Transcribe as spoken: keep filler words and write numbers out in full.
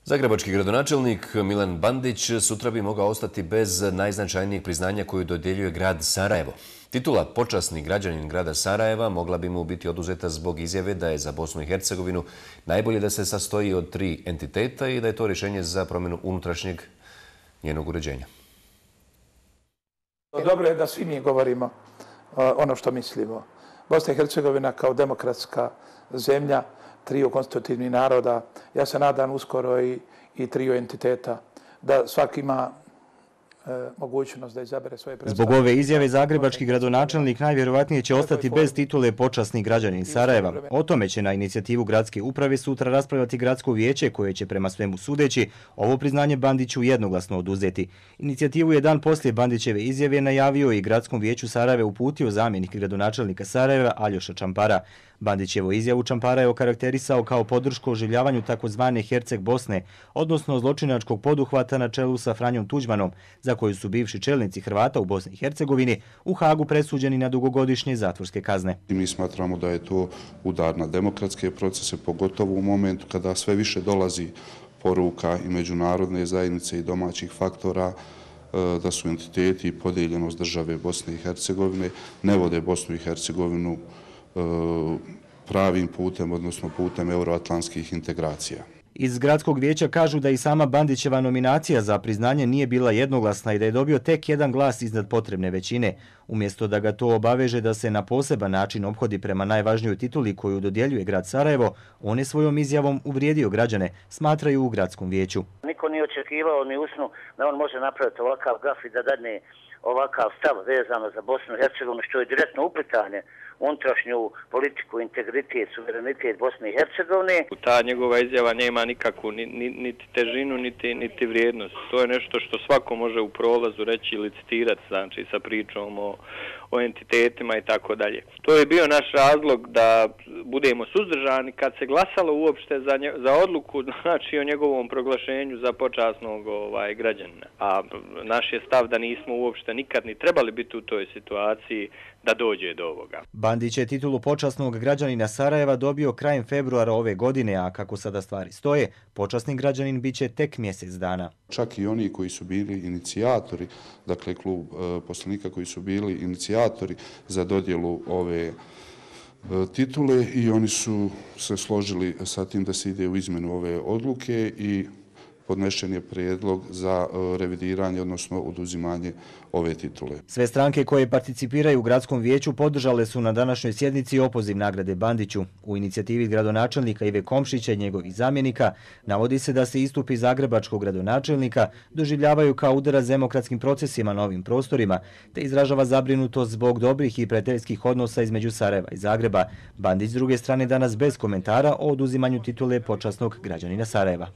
Zagrebački gradonačelnik Milan Bandić sutra bi mogao ostati bez najznačajnijeg priznanja koju dodjeljuje grad Sarajevo. Titula počasni građanin grada Sarajeva mogla bi mu biti oduzeta zbog izjave da je za Bosnu i Hercegovinu najbolje da se sastoji od tri entiteta i da je to rješenje za promjenu unutrašnjeg njenog uređenja. Dobro je da svi mi govorimo ono što mislimo. Bosna i Hercegovina kao demokratska zemlja, triju konstitutivnih naroda, ja se nadam uskoro i, i triju entiteta, da svaki ima e, mogućnost da izabere svoje predstavnike. Zbog ove izjave zagrebački gradonačelnik najvjerojatnije će ostati bez titule počasni građanin Sarajeva. O tome će na inicijativu gradske uprave sutra raspravljati gradsko vijeće koje će prema svemu sudeći ovo priznanje Bandiću jednoglasno oduzeti. Inicijativu je dan poslije Bandićeve izjave najavio i gradskom vijeću Sarajeva uputio zamjenik gradonačelnika Sarajeva Aljoša Čampara. Bandićevu izjavu Čampara je okarakterisao kao podršku oživljavanju takozvane Herceg Bosne, odnosno zločinačkog poduhvata na čelu sa Franjom Tuđmanom, za koju su bivši čelnici Hrvata u Bosni i Hercegovini u Hagu presuđeni na dugogodišnje zatvorske kazne. Mi smatramo da je to udar na demokratske procese, pogotovo u momentu kada sve više dolazi poruka i međunarodne zajednice i domaćih faktora da su entiteti i podijeljenost države Bosne i Hercegovine ne vode Bosnu i Hercegovinu pravim putem, odnosno putem euroatlantskih integracija. Iz gradskog vijeća kažu da i sama Bandićeva nominacija za priznanje nije bila jednoglasna i da je dobio tek jedan glas iznad potrebne većine. Umjesto da ga to obaveže da se na poseban način ophodi prema najvažnijoj tituli koju dodjeljuje grad Sarajevo, on je svojom izjavom uvrijedio građane, smatraju u gradskom vijeću. Niko nije očekivao ni usnu da on može napraviti ovakav gaf i da dadne ovakav stav vezano za Bosnu i Hercegovinu, što je direktno uplitanje unutrašnju politiku, integritet, suverenitet Bosne i Hercegovine. Ta njegova izjava nema nikakvu ni, ni, niti težinu, niti, niti vrijednost. To je nešto što svako može u prolazu reći i licitirati, znači sa pričom o, o entitetima i tako dalje. To je bio naš razlog da budemo suzdržani kad se glasalo uopšte za, nje, za odluku, znači o njegovom proglašenju za počasnog ovaj, građanina. A naš je stav da nismo uopšte nikad ni trebali biti u toj situaciji da dođe do ovoga. Bandić je titulu počasnog građanina Sarajeva dobio krajem februara ove godine, a kako sada stvari stoje, počasni građanin biće tek mjesec dana. Čak i oni koji su bili inicijatori, dakle klub e, poslanika koji su bili inicijatori za dodjelu ove e, titule i oni su se složili sa tim da se ide u izmjenu ove odluke i podnešen je prijedlog za revidiranje, odnosno oduzimanje ove titule. Sve stranke koje participiraju u gradskom vijeću podržale su na današnjoj sjednici opoziv nagrade Bandiću. U inicijativi gradonačelnika Ive Komšića i njegovih zamjenika navodi se da se istupi zagrebačkog gradonačelnika doživljavaju kao udarac demokratskim procesima na ovim prostorima, te izražava zabrinutost zbog dobrih i prijateljskih odnosa između Sarajeva i Zagreba. Bandić s druge strane danas bez komentara o oduzimanju titule počasnog građanina Sarajeva.